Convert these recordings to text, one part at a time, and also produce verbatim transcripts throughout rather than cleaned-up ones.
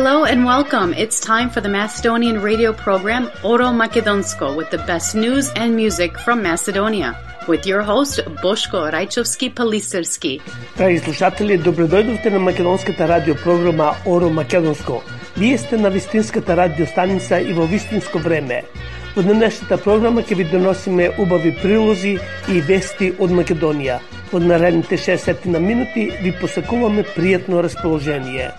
Hello and welcome. It's time for the Macedonian radio program Oro Makedonsko with the best news and music from Macedonia. With your host, Boško Rajčovski-Palisarski. Драги слушатели, добредојдовте на македонската радиопрограма Оро Македонско. Вие сте на вистинската радиостаница и во вистинско време. Во денешната програма ќе ви доносиме убави прилози и вести од Македонија. Во наредните шесет на минути ви посакуваме пријатно расположение.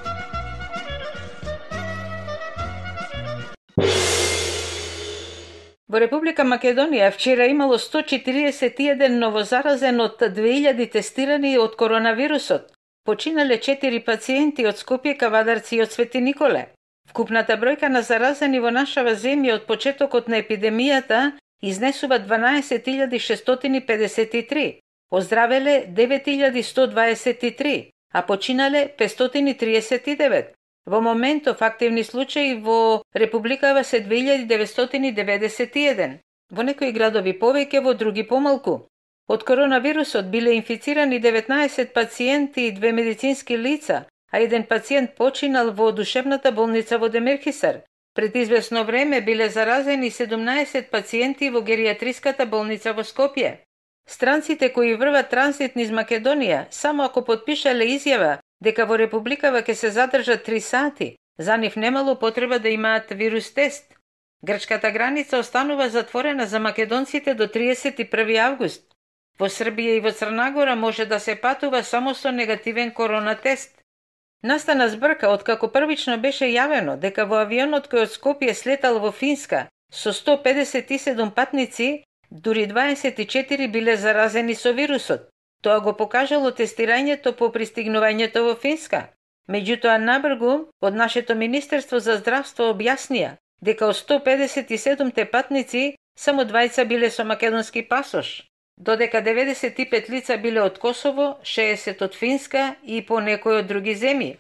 Во Република Македонија вчера имало сто четиридесет и еден новозаразен од две илјади тестирани од коронавирусот. Починале четири пациенти од Скопје, Кавадарци и од Свети Николе. Вкупната бројка на заразени во нашава земја од почетокот на епидемијата изнесува дванаесет илјади шестстотини педесет и три, оздравеле девет илјади сто дваесет и три, а починале петстотини триесет и девет. Во моментов активни случаи во Републикава се две илјади деветстотини деветдесет и еден. Во некои градови повеќе, во други помалку. Од коронавирусот биле инфицирани деветнаесет пациенти и две медицински лица, а еден пациент починал во душевната болница во Демирхисар. Пред извесно време биле заразени седумнаесет пациенти во геријатриската болница во Скопје. Странците кои врват транзит низ Македонија, само ако подпишале изјава дека во Републикава ќе се задржат три сати, за нив немало потреба да имаат вирус тест. Грчката граница останува затворена за македонците до триесет и први август. Во Србија и во Црна Гора може да се патува само со негативен корона тест. Настана збрка откако првично беше јавено дека во авионот кој од Скопје слетал во Финска со сто педесет и седум патници, дури дваесет и четири биле заразени со вирусот. Тоа го покажало тестирањето по пристигнувањето во Финска. Меѓутоа, набргу, од нашето Министерство за здравство објаснија дека од сто педесет и седумте патници само двајца биле со македонски пасош, додека деветдесет и пет лица биле од Косово, шеесет од Финска и по некои од други земји.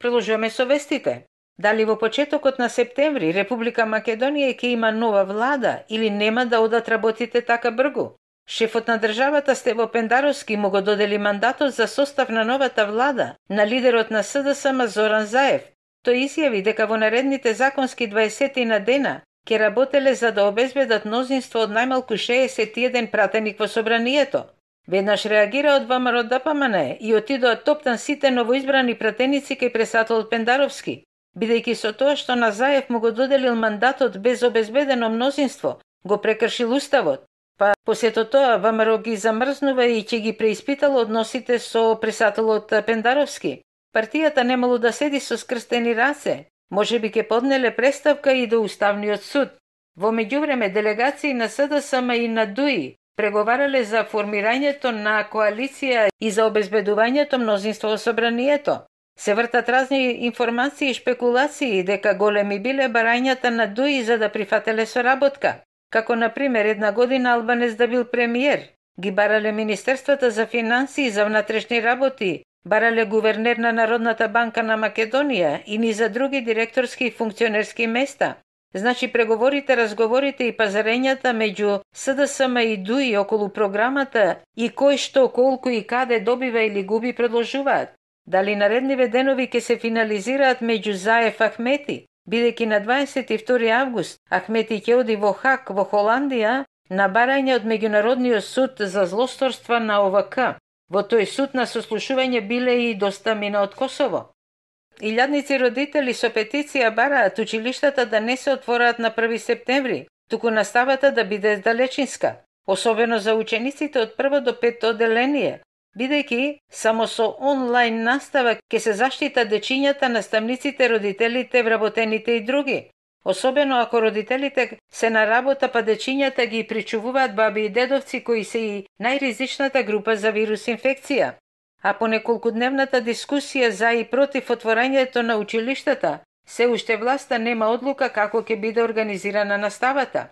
Продолжуваме со вестите. Дали во почетокот на септември Република Македонија ќе има нова влада или нема да одат работите така бргу? Шефот на државата Стево Пендаровски му го додели мандатот за состав на новата влада на лидерот на СДСМ Зоран Заев. Тој изјави дека во наредните законски дваесет на дена ќе работеле за да обезбедат мнозинство од најмалку шеесет и еден пратеник во собранието. Веднаш реагира од ВМРО Д П М Н и отидоа топтан сите новоизбрани пратеници кај пресатол Пендаровски, бидејќи со тоа што на Заев му го доделил мандатот без обезбедено мнозинство, го прекршил уставот. Па посето тоа ВМРО ги замрзнува и ќе ги преиспитал односите со пресателот Пендаровски. Партијата немало да седи со скрстени раце, може би ќе поднеле преставка и до Уставниот суд. Во меѓувреме делегации на СДСМ и на Д У И преговарале за формирањето на коалиција и за обезбедувањето мнозинство во собранието. Се вртат разни информации и шпекулации дека големи биле барањата на Д У И за да прифателе соработка. Како, например, една година Албанез да бил премиер, ги барале Министерствата за финансии и за внатрешни работи, барале гувернер на Народната банка на Македонија и ни за други директорски и функционерски места. Значи, преговорите, разговорите и пазарењата меѓу СДСМ и Д У И околу програмата и кој што, колку и каде добива или губи продолжуваат. Дали наредниве денови ќе се финализираат меѓу Заев Ахмети, бидејќи на дваесет и втори август Ахмети ќе оди во Хаг во Холандија на барање од Меѓународниот суд за злосторства на О В К. Во тој суд на сослушување биле и доста мина од Косово. Илјадници родители со петиција бараат училиштата да не се отвораат на први септември, туку наставата да биде далечинска, особено за учениците од прво до петто одделение, бидејќи само со онлайн настава ќе се заштита дечињата, наставниците, родителите, вработените и други. Особено ако родителите се на работа, па дечињата ги причувуваат баби и дедовци кои се и најризичната група за вирус инфекција. А по неколкудневната дискусија за и против отворањето на училиштата, се уште власта нема одлука како ќе биде организирана наставата.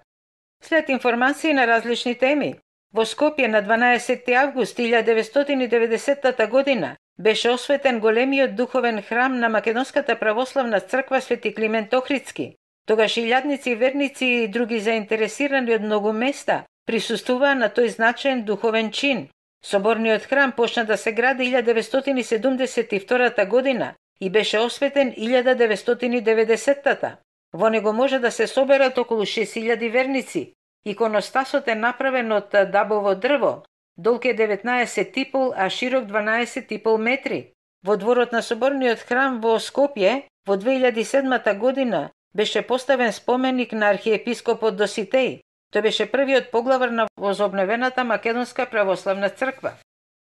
След информации на различни теми, во Скопје на дванаесети август илјадесетстотини деветстотини и деветдесетта година беше осветен големиот духовен храм на Македонската православна црква Свети Климент Охридски. Тогаш илјадници верници и други заинтересирани од многу места присуствуваа на тој значаен духовен чин. Соборниот храм почна да се гради илјадесетстотини седумдесет и втората година и беше осветен илјада деветстотини и деветдесеттата. Во него може да се соберат околу шест илјади верници. Иконостасот е направен од дабово дрво, долг е деветнаесет и пол, а широк дванаесет и пол метри. Во дворот на соборниот храм во Скопје во две илјади и седмата година беше поставен споменик на архиепископот Доситеј. Тој беше првиот поглавар на возобновената Македонска православна црква.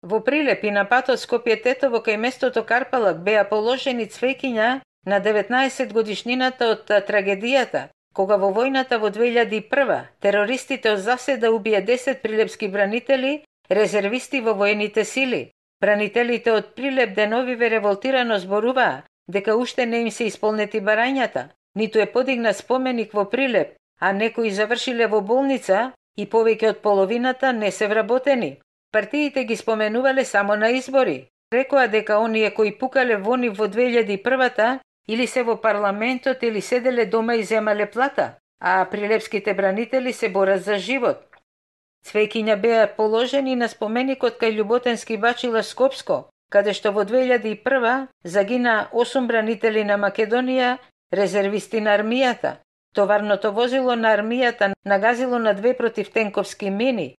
Во Прилеп и на патот Скопје-Тетово кај местото Карпалак беа положени цвеќиња на деветнаесет годишнината од трагедијата, кога во војната во две илјади и прва терористите од заседа убија десет прилепски бранители, резервисти во воените сили. Бранителите од Прилеп деновиве револтирано зборуваа дека уште не им се исполнети барањата, ниту е подигнат споменик во Прилеп, а некои завршиле во болница и повеќе од половината не се вработени. Партиите ги споменувале само на избори. Рекоа дека оние кои пукале во нив во две илјади и првата или се во парламентот или седеле дома и земале плата, а прилепските бранители се борат за живот. Цвеќиња беа положени на споменикот кај Љуботенски бачила Скопско, каде што во две илјади и прва загина осум бранители на Македонија, резервисти на армијата. Товарното возило на армијата нагазило на две противтенковски мини.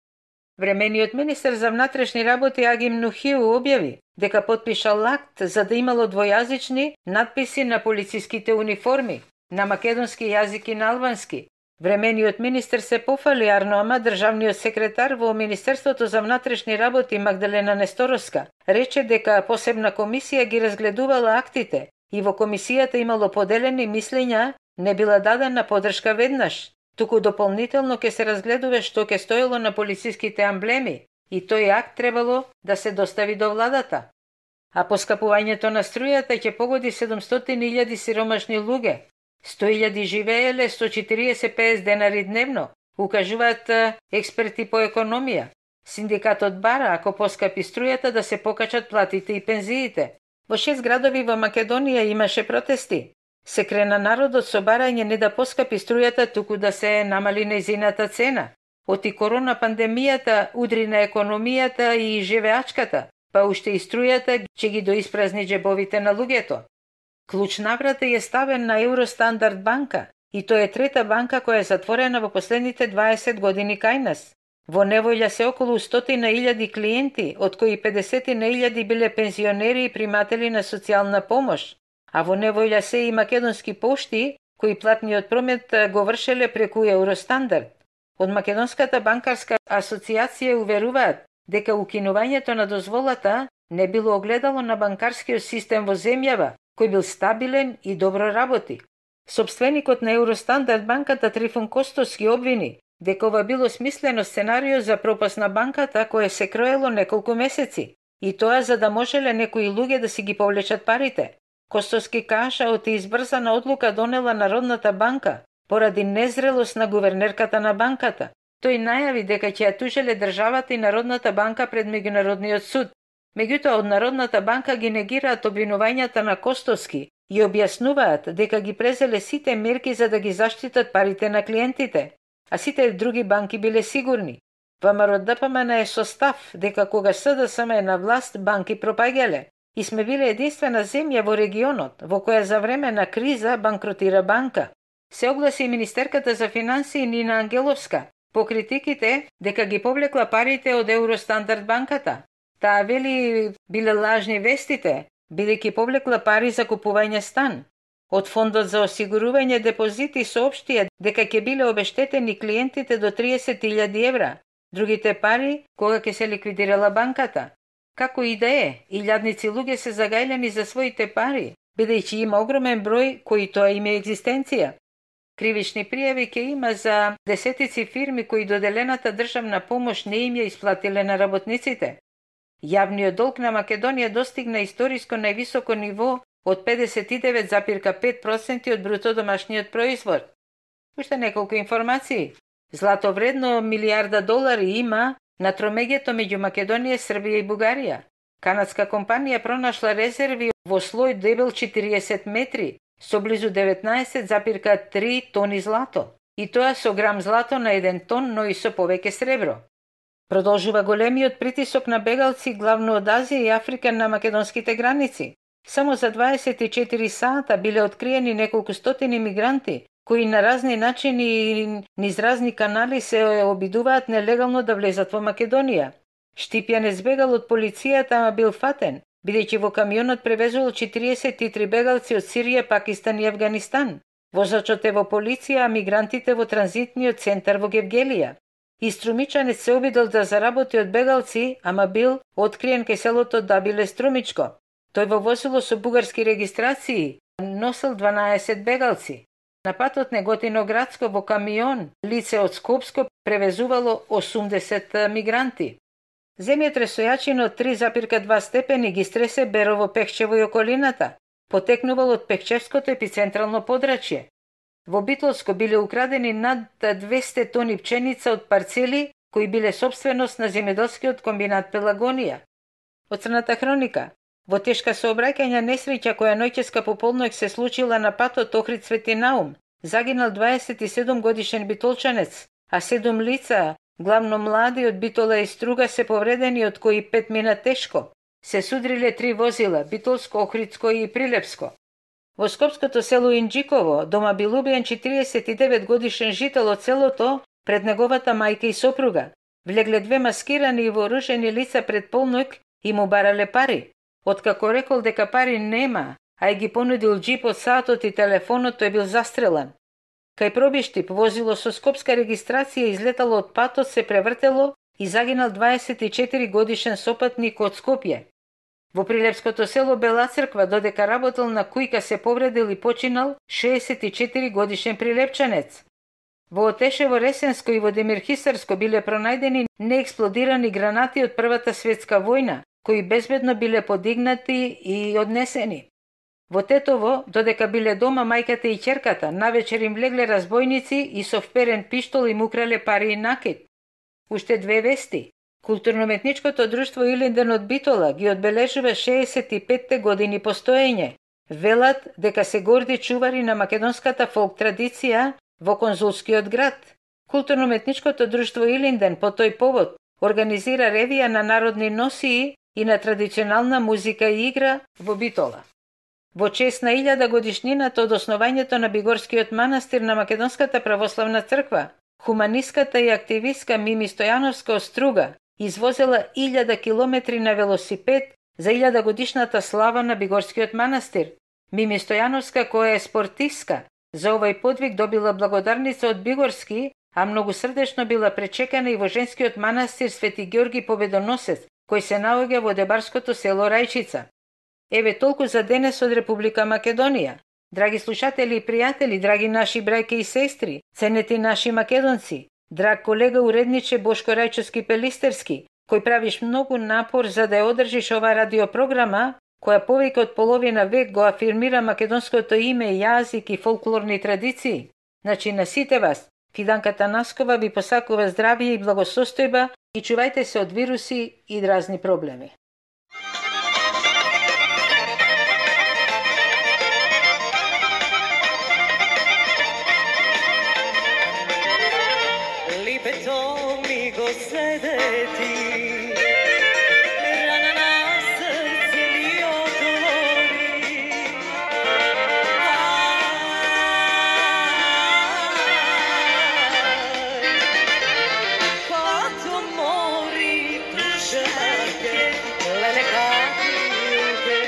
Времениот министер за внатрешни работи Агим Нухиу објави дека потпишал акт за да имало двојазични надписи на полициските униформи, на македонски јазик и на албански. Времениот министер се пофали арно, ама државниот секретар во Министерството за внатрешни работи Магдалена Несторовска рече дека посебна комисија ги разгледувала актите и во комисијата имало поделени мислења, не била дадена подршка веднаш, туку дополнително ќе се разгледува што ќе стоело на полициските амблеми и тој акт требало да се достави до владата. А поскапувањето на струјата ќе погоди седумстотини илјади сиромашни луѓе. сто илјади живееле сто четириесет до песет денари дневно, укажуваат експерти по економија. Синдикатот бара, ако поскапи струјата, да се покачат платите и пензиите. Во шест градови во Македонија имаше протести. Се крена народот со барање не да поскапи струјата, туку да се намали нејзината цена. Оти корона пандемијата удри на економијата и живеачката, па уште и струјата ќе ги доиспразни џебовите на луѓето. Клуч наврата е ставен на Евростандард банка и тоа е трета банка која е затворена во последните дваесет години кај нас. Во неволја се околу стотина илјади клиенти, од кои педесетина илјади биле пензионери и приматели на социјална помош, а во неволја се и македонски пошти, кои платниот промет го вршеле преку Евростандард. Од Македонската банкарска асоциација уверуваат дека укинувањето на дозволата не било огледало на банкарскиот систем во земјава, кој бил стабилен и добро работи. Собственикот на Евростандард банката Трифун Костос ги обвини дека ова било смислено сценарио за пропаст на банката кое се кроело неколку месеци, и тоа за да можеле некои луѓе да си ги повлечат парите. Костос ги кажа оти избрзана одлука донела Народната банка поради незрелост на гувернерката на банката. Тој најави дека ќе ја тужеле државата и Народната банка пред меѓународниот суд. Меѓутоа, од Народната банка ги негираат обвинувањата на Костовски и објаснуваат дека ги презеле сите мерки за да ги заштитат парите на клиентите, а сите други банки биле сигурни. ВМРО Д П М Н е со став дека кога С Д С М е на власт, банки пропаѓале и сме биле единствена земја во регионот во која за време на криза банкротира банка. Се огласи министерката за финансии Нина Ангеловска по критиките дека ги повлекла парите од Евростандард банката. Таа вели биле лажни вестите, бидејќи повлекла пари за купување стан. Од Фондот за осигурување депозити соопштија дека ќе биле обештетени клиентите до триесет илјади евра, другите пари кога ќе се ликвидирала банката. Како и да е, илјадници луѓе се загајлени за своите пари, бидејќи има огромен број кои тоа им е екзистенција. Кривични пријави ќе има за десетици фирми кои доделената државна помош не им ја исплатиле на работниците. Јавниот долг на Македонија достигна историско највисоко ниво од педесет и девет запир пет проценти од бруто домашниот производ. Уште неколку информации. Злато вредно милијарда долари има на тромеѓето меѓу Македонија, Србија и Бугарија. Канадска компанија пронашла резерви во слој дебел четириесет метри со близу деветнаесет запир три тони злато. И тоа со грам злато на еден тон, но и со повеќе сребро. Продолжува големиот притисок на бегалци главно од Азија и Африка на македонските граници. Само за дваесет и четири сата биле откриени неколку стотини мигранти, кои на разни начини и низ разни канали се обидуваат нелегално да влезат во Македонија. Штипјан е збегал од полицијата, ама бил фатен, бидејќи во камионот превезувал четириесет и три бегалци од Сирија, Пакистан и Авганистан. Возачот е во полиција, а мигрантите во транзитниот центар во Гевгелија. Иструмичанец се обидел да заработи од бегалци, ама бил откриен кај селото Дабиле Струмичко. Тој во возило со бугарски регистрации носел дванаесет бегалци. На патот Неготино-Градско во камион лице од Скопско превезувало осумдесет мигранти. Земјотресот од три запирка два степени ги стресе Берово, Пехчево и околината. Потекнувал од Пехчевското епицентрално подрачје. Во Битолско биле украдени над двесте тони пченица од парцели кои биле собственост на земјоделскиот комбинат Пелагонија. Од Црната хроника. Во тешка сообраќајна несреќа која ноќеска пополнок се случила на патот Охрид Свети Наум, загинал дваесет и седум годишен битолчанец, а седум лица, главно млади од Битола и Струга, се повредени, од кои пет мина тешко. Се судриле три возила, Битолско, Охридско и Прилепско. Во скопското село Инџиково, дома бил убиен четириесет и девет годишен жител од селото пред неговата мајка и сопруга. Влегле две маскирани и вооружени лица пред полнок и му барале пари. Откако рекол дека пари нема, а и ги понудил џип од саатот и телефонот, тој бил застрелан. Кај Пробиштип, возило со скопска регистрација излетало од патот, се превртело и загинал дваесет и четири годишен сопатник од Скопје. Во Прилепското село Бела Црква, додека работел на кујка, се повредил и починал шеесет и четири годишен прилепчанец. Во Отешево, Ресенско и во Демирхисарско биле пронајдени неексплодирани гранати од Првата светска војна, кои безбедно биле подигнати и однесени. Во Тетово, додека биле дома мајката и ќерката, навечер им влегле разбойници и со вперен пиштол им украле пари и накид. Уште две вести. Културно-уметничкото друштво Илинден од Битола ги одбележува шеесет и петте години постоење. Велат дека се горди чувари на македонската фолк традиција во конзулскиот град. Културно-уметничкото друштво Илинден по тој повод организира ревија на народни носии и на традиционална музика и игра во Битола. Во чест на илјада годишнината од основањето на Бигорскиот манастир на Македонската православна црква, хуманистката и активистка Мими Стојановска од Струга извозела илјада километри на велосипед за илјада годишната слава на Бигорскиот манастир. Мими Стојановска, која е спортистка, за овој подвиг добила благодарница од Бигорски, а многу срдечно била пречекана и во женскиот манастир Свети Георги Победоносец, кој се наоѓа во дебарското село Рајчица. Еве толку за денес од Република Македонија. Драги слушатели и пријатели, драги наши брајки и сестри, ценети наши македонци, драг колега уредниче Бошко Рајчовски Пелистерски, кој правиш многу напор за да ја одржиш ова радиопрограма, која повеќе од половина век го афирмира македонското име, јазик и фолклорни традиции. Значи на сите вас, Фиданка Танаскова ви посакува здравје и благосостојба и чувајте се од вируси и разни проблеми. Липето ми го седети, рана на срце ми отвори. Като мори душаке, леле капилке.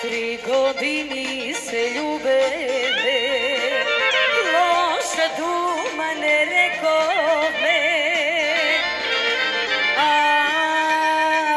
Три години се љубевме, лоша дума не рековме. Ај,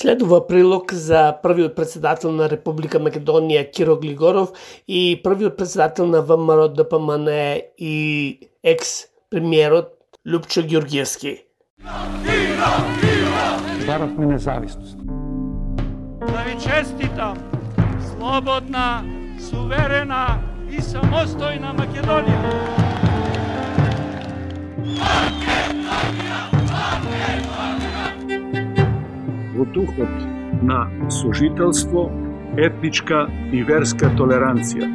Следува прилог за првиот председател на Република Македонија Киро Глигоров и првиот председател на ВМРО Д П М Н и екс-премиерот Лјупчо Ѓурѓевски. Баравме независност. Да ви честитам слободна, суверена и самостојна Македонија. Во духот на сожителство, етничка и верска толеранција.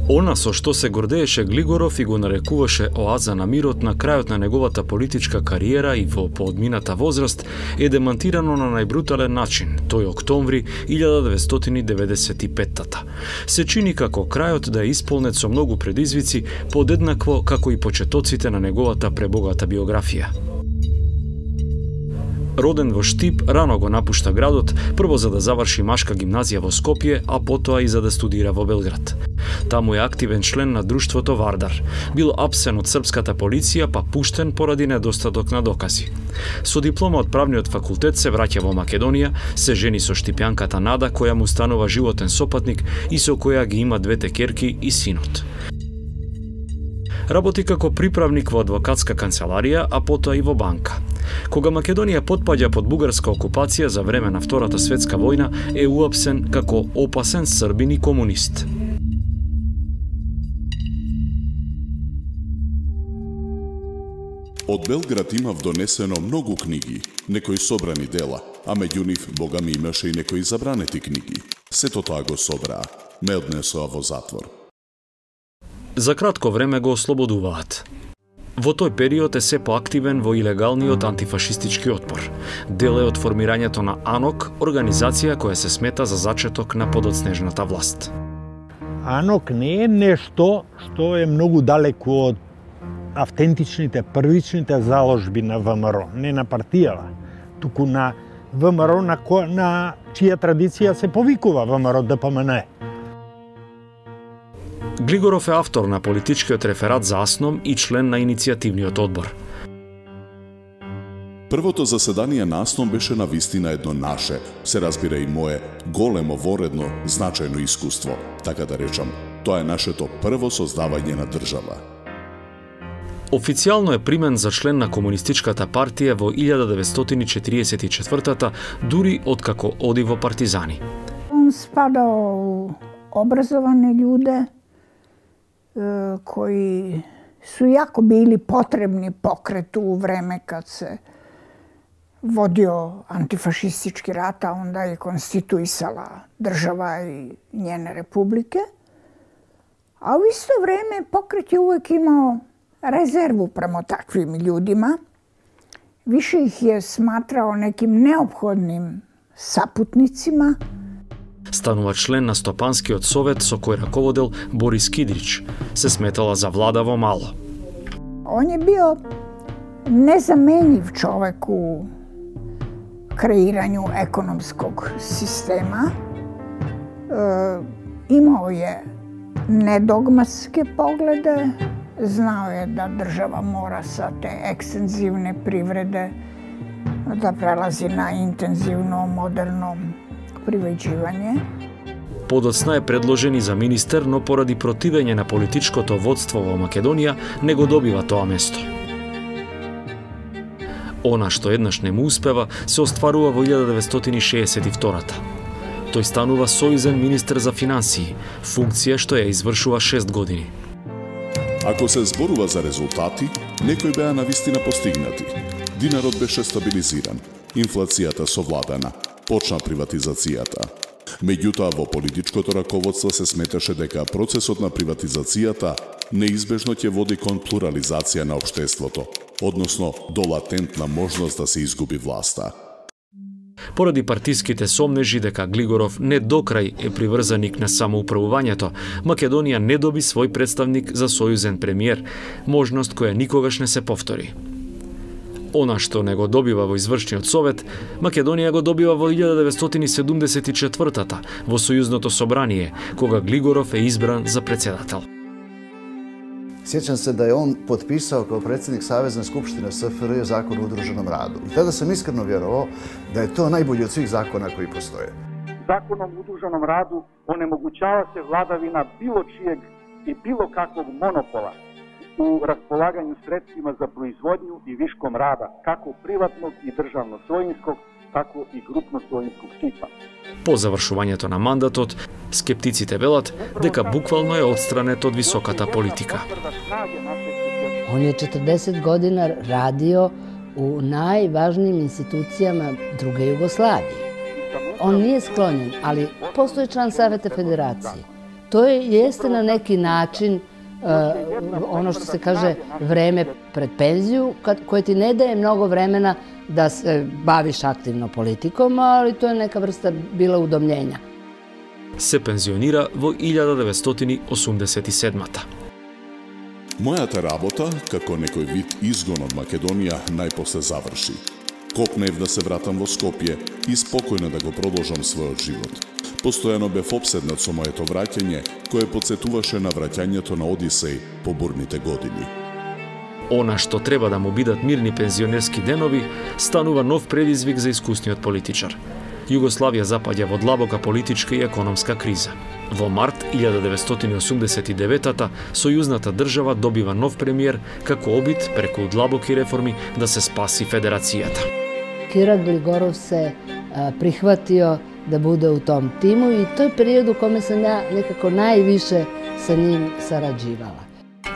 Она со што се гордееше Глигоров и го нарекуваше оаза на мирот на крајот на неговата политичка кариера и во поодмината возраст е демантирано на најбрутален начин, тој октомври илјада деветстотини деведесет и петта. Се чини како крајот да е исполнет со многу предизвици, подеднакво како и почетоците на неговата пребогата биографија. Роден во Штип, рано го напушта градот, прво за да заврши машка гимназија во Скопје, а потоа и за да студира во Белград. Таму е активен член на друштвото Вардар. Бил апсен од српската полиција, па пуштен поради недостаток на докази. Со диплома од правниот факултет се враќа во Македонија, се жени со штипјанката Нада, која му станува животен сопатник и со која ги има двете ќерки и синот. Работи како приправник во адвокатска канцеларија, а потоа и во банка. Кога Македонија потпаѓа под бугарска окупација за време на Втората светска војна, е уапсен како опасен србин и комунист. Од Белград имав донесено многу книги, некои собрани дела, а меѓу нив, бога ми, имаше и некои забранети книги. Сето тоа го собраа, ме однесоа во затвор. За кратко време го ослободуваат. Во тој период е се поактивен во илегалниот антифашистички отпор. Дел е од формирањето на АНОК, организација која се смета за зачеток на подоцнежната власт. АНОК не е нешто што е многу далеку од автентичните, првичните заложби на ВМРО, не на партијава, туку на ВМРО на, ко... на чија традиција се повикува ВМРО Д П М Н. Глигоров е автор на политичкиот реферат за АСНОМ и член на иницијативниот одбор. Првото заседание на АСНОМ беше на вистина едно наше, се разбира и мое, големо, воредно, значајно искуство, така да речам. Тоа е нашето прво создавање на држава. Официјално е примен за член на Комунистичката партија во илјада деветстотини четириесет и четвртата, дури откако оди во партизани. Он спадал у образовани људе, кои су јако били потребни покрету у време кад се водио антифашистички рат, а онда и конституисала држава и njene републике. А у исто време покрет је увек имао резерву према таквим људима. Више их је сматрао неким неопходним сапутницима. Станува член на Стопанскиот совет со кој раководел Борис Кидрич. Се сметала за влада во мало. Он е био незаменив човек у креирању економског система. Е, имао е недогматски погледе, знао е да држава мора са те екстензивне привреде да прелази на интензивно, модерно привеđivanje. Подоцна е предложен и за министер, но поради противење на политичкото водство во Македонија не го добива тоа место. Она што еднаш не му успева се остварува во илјада деветстотини шеесет и втората. Тој станува сојузен министер за финансии, функција што ја извршува шест години. Ако се зборува за резултати, некои беа навистина постигнати. Динарот беше стабилизиран, инфлацијата совладана, почна приватизацијата. Меѓутоа, во политичкото раководство се сметаше дека процесот на приватизацијата неизбежно ќе води кон плурализација на општеството, односно до латентна можност да се изгуби власта. Поради партиските сомнежи дека Глигоров не докрај е приврзаник на самоуправувањето, Македонија не доби свој представник за сојузен премиер, можност која никогаш не се повтори. Она што не го добива во извршниот совет, Македонија го добива во илјада деветстотини и седумдесет и четвртата во Сојузното собрание, кога Глигоров е избран за председател. Sjećam se da je on potpisao kao predsjednik Savezne skupštine S F R J zakon o udruženom radu. I tada sam iskreno vjerovao da je to najbolji od svih zakona koji postoje. Zakonom o udruženom radu onemogućava se vladavina bilo čijeg i bilo kakvog monopola u raspolaganju sredstvima za proizvodnju i viškom rada, kako privatnog i državno-svojinskog, tako i grupno-svojinskog tipa. По завршувањето на мандатот, скептиците велат дека буквално е отстранет од високата политика. Он je četrdeset godina radio u najvažnijim institucijama druge Jugoslavije. On nije sklonjen, ali postoji član Saveta Federacije. To je, jeste na neki način uh, ono što se kaže vreme pred penziju, kad, koje ti ne daje mnogo vremena da se baviš aktivno politikom, ali to je neka vrsta bila udomljenja. Се пензионира во илјада деветстотини осумдесет и седмата. Мојата работа, како некој вид изгон од Македонија, најпосле заврши. Копнев да се вратам во Скопје и спокојно да го продолжам својот живот. Постојано бев опседнат со моето враќање, кое подсетуваше на враќањето на Одисеј по бурните години. Она што треба да му бидат мирни пензионерски денови, станува нов предизвик за искусниот политичар. Југославија запаѓа во длабока политичка и економска криза. Во март илјада деветстотини осумдесет и деветата сојузната држава добива нов премиер како обид преку длабоки реформи да се спаси федерацијата. Kira Gligorov se a, prihvatio da bude u tom timu i to je period u kome sam ja nekako najviše sa njim sarađivala.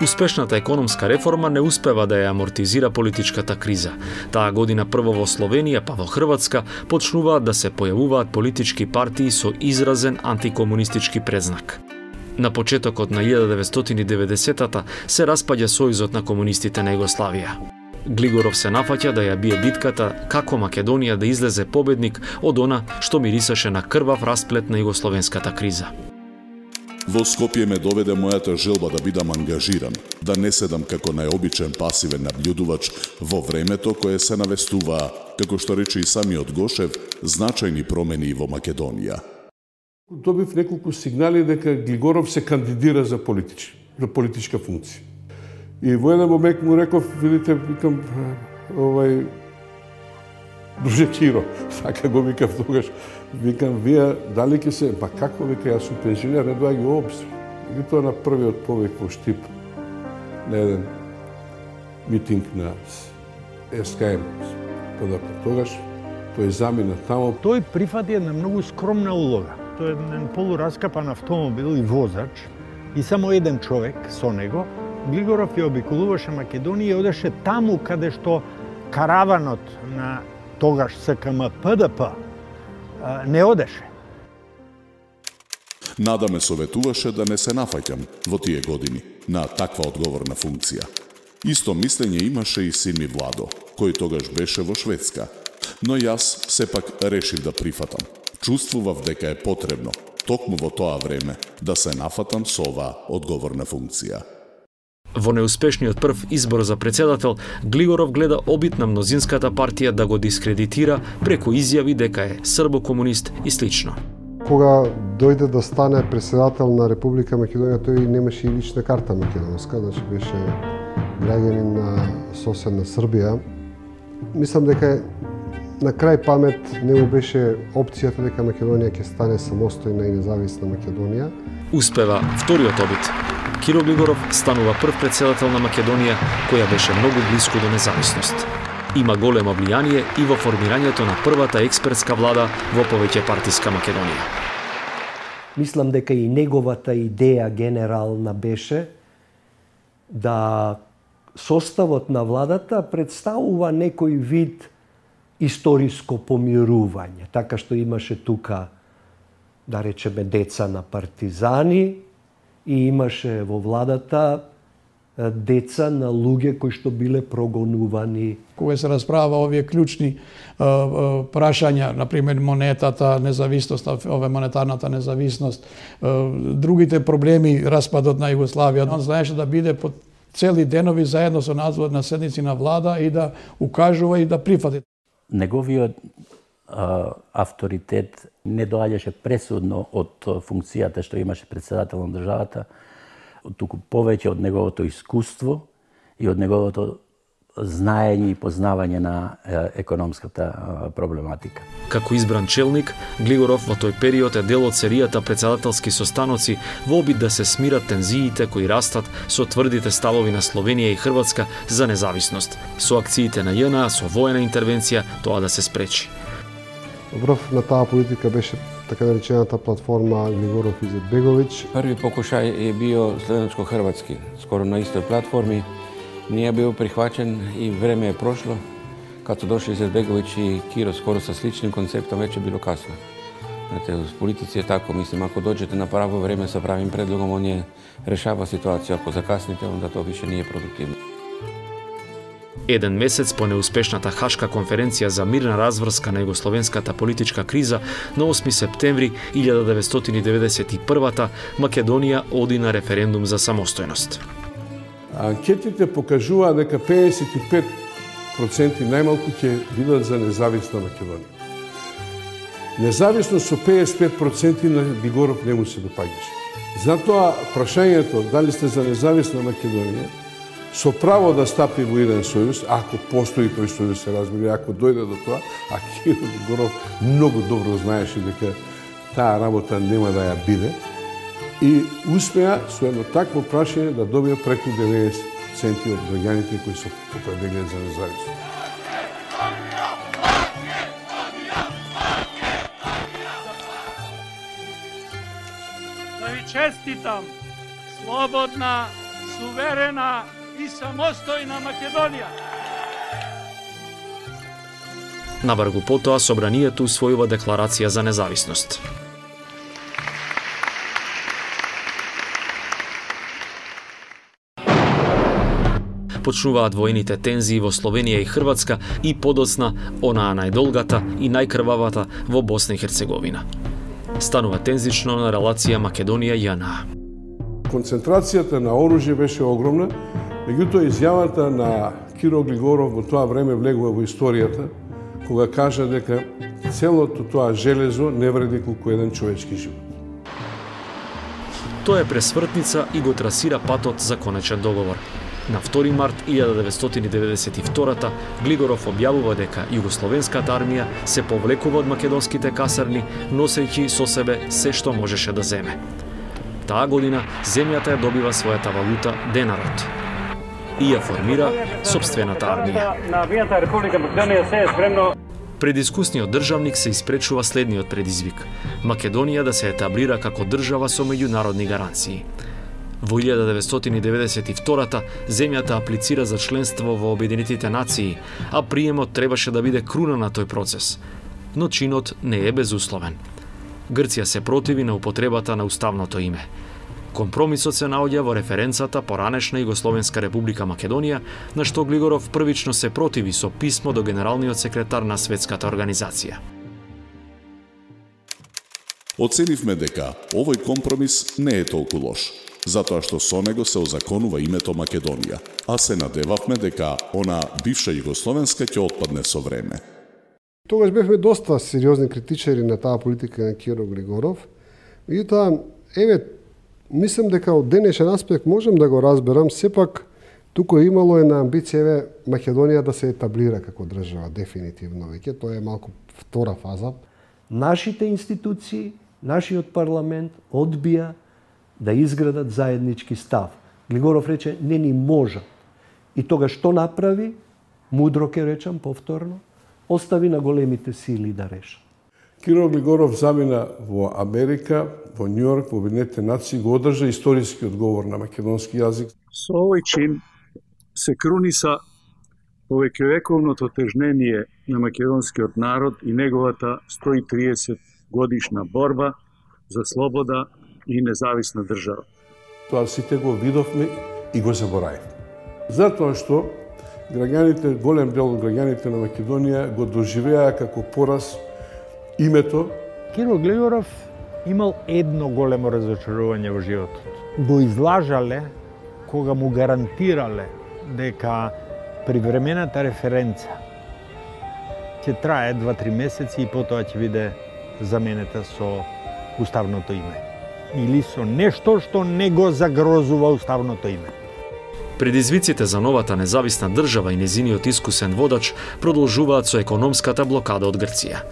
Успешната економска реформа не успева да ја амортизира политичката криза. Таа година прво во Словенија, па во Хрватска, почнуваат да се појавуваат политички партии со изразен антикомунистички предзнак. На почетокот на илјада деветстотини и деветдесетата се распаѓа Сојузот на комунистите на Југославија. Глигоров се нафаќа да ја бие битката како Македонија да излезе победник од она што мирисаше на крвав расплет на југословенската криза. Во Скопје ме доведе мојата желба да бидам ангажиран, да не седам како најобичен пасивен наблюдувач во времето кое се навестуваа, како што рече и самиот Гошев, значајни промени во Македонија. Добив неколку сигнали дека Глигоров се кандидира за политич, за политичка функција. И во еден момент му реков, видите, викам, овај, друже Киро, така го викав тогаш, викам, вие дали ќе се, па како вика, јас сум пензионер, не доаѓа во обзир. И тоа на првиот повик во Штип, на еден митинг на С К М. Тогаш тој замина тамо. Тој прифати една многу скромна улога. Тој е еден полураскапан автомобил и возач и само еден човек со него. Глигоров ја обиколуваше Македонија и одеше таму каде што караванот на тогаш С К М П Д П не одеше. Нада ме советуваше да не се нафаќам во тие години на таква одговорна функција. Исто мислење имаше и син ми Владо, кој тогаш беше во Шведска. Но јас сепак решив да прифатам. Чувствував дека е потребно, токму во тоа време, да се нафатам со оваа одговорна функција. Во неуспешниот прв избор за председател, Глигоров гледа обид на мнозинската партија да го дискредитира преку изјави дека е србо-комунист и слично. Кога дојде да стане председател на Република Македонија, тој немаше и лична карта македонска, значи беше граѓанин на соседна Србија. Мислам дека на крај памет не му беше опцијата дека Македонија ќе стане самостојна и независна Македонија. Успева вториот обид. Киро Глигоров станува прв председател на Македонија, која беше многу близко до независност. Има големо влијание и во формирањето на првата експертска влада во повеќе партиска Македонија. Мислам дека и неговата идеја генерална беше да составот на владата представува некој вид историско помирување, така што имаше тука, да речеме, деца на партизани и имаше во владата деца на луѓе кои што биле прогонувани. Кога се расправа овие клучни а, а, прашања, например монетата, независноста, ове монетарната независност, а, другите проблеми, распадот на Југославија, он знаеше да биде под цели денови заедно со надзор на седници на влада и да укажува и да прифати. Неговиот а, авторитет не доаѓаше пресудно од функцијата што имаше председател на државата, туку повеќе од неговото искуство и од неговото знаење и познавање на економската проблематика. Како избран челник, Глигоров во тој период е дел од серијата председателски состаноци во обид да се смират тензиите кои растат со тврдите ставови на Словенија и Хрватска за независност. Со акциите на ЈНА, со воена интервенција, тоа да се спречи. Врв на таа политика беше така наречената платформа Глигоров Изетбеговиќ. Први покушај е био словенско-хрватски, скоро на истој платформи. Не е бил прихвачен и време е прошло. Като дошли Изетбеговиќ и Киро скоро со сличним концептом, веќе било касно. Знаете, в политици е тако, мислим, ако доđете на право време со правим предлогом, он е решава ситуација, ако закасните, онда тоа више не е продуктивно. Еден месец по неуспешната Хашка конференција за мирна разврска на југословенската политичка криза, на осми септември илјада деветстотини и деветдесет и прва Македонија оди на референдум за самостојност. Анкетите покажуваат дека педесет и пет проценти најмалку ќе бидат за независна Македонија. Независно со педесет и пет проценти на Глигоров не му се допаѓаше. Затоа прашањето дали сте за независна Македонија со право да стапи во еден сојуз, ако постои тој сојуз, се разбира, ако дојде до тоа, а Киро Глигоров многу добро знаеше дека таа работа нема да ја биде, и успеа со едно такво прашање да добија преку деветдесет проценти од граѓаните кои се определија за независност. Да ви честитам, слободна, суверена и самостојна Македонија. Набргу потоа собранието усвојува декларација за независност. Почнуваат воените тензии во Словенија и Хрватска и подоцна онаа најдолгата и најкрвавата во Босна и Херцеговина. Станува тензично на релација Македонија-ЈНА. Концентрацијата на оружје беше огромна, меѓутоа изјавата на Киро Глигоров во тоа време влегува во историјата, кога кажа дека целото тоа железо не вреди колку еден човечки живот. Тоа е пресвртница и го трасира патот за конечен договор. На втори март илјада деветстотини деветдесет и втора Глигоров објавува дека југословенската армија се повлекува од македонските касарни, носејќи со себе се што можеше да земе. Таа година земјата ја добива својата валута денарот и ја формира сопствената армија. На армијата Република Македонија се е спремно. Пред искусниот државник се испречува следниот предизвик: Македонија да се етаблира како држава со меѓународни гаранции. Во илјада деветстотини деветдесет и втора земјата аплицира за членство во Обединетите нации, а приемот требаше да биде круна на тој процес. Но чинот не е безусловен. Грција се противи на употребата на уставното име. Компромисот се наоѓа во референцата поранешна Југословенска република Македонија, на што Глигоров првично се противи со писмо до генералниот секретар на Светската организација. Оценивме дека овој компромис не е толку лош, затоа што со него се озаконува името Македонија, а се надевавме дека она бивша Југословенска ќе отпадне со време. Тогаш бевме доста сериозни критичари на таа политика на Киро Глигоров. Меѓутоа, еве, мислам дека од денешен аспект можам да го разберам, сепак туку имало една амбиција еве Македонија да се етаблира како држава дефинитивно веќе, тоа е малку втора фаза. Нашите институции, нашиот парламент одбија да изградат заеднички став. Глигоров рече не ни можат. И тога што направи? Мудро ке речам повторно, остави на големите сили да решат. Киро Глигоров замина во Америка, во Њујорк, во Обединетите нации, го одржа историски одговор на македонски јазик. Со овој чин се круниса повеќевековното тежнение на македонскиот народ и неговата сто и триесет годишна борба за слобода и независна држава. Тоа сите го видовме и го заборавив. Затоа што граѓаните, голем дел од граѓаните на Македонија го доживеа како пораз името. Киро Глигоров имал едно големо разочарување во животот. Го излажале кога му гарантирале дека привремената референца ќе трае два-три месеци и потоа ќе биде заменета со уставното име. Или со нешто што не го загрозува уставното име. Предизвиците за новата независна држава и незиниот искусен водач продолжуваат со економската блокада од Грција.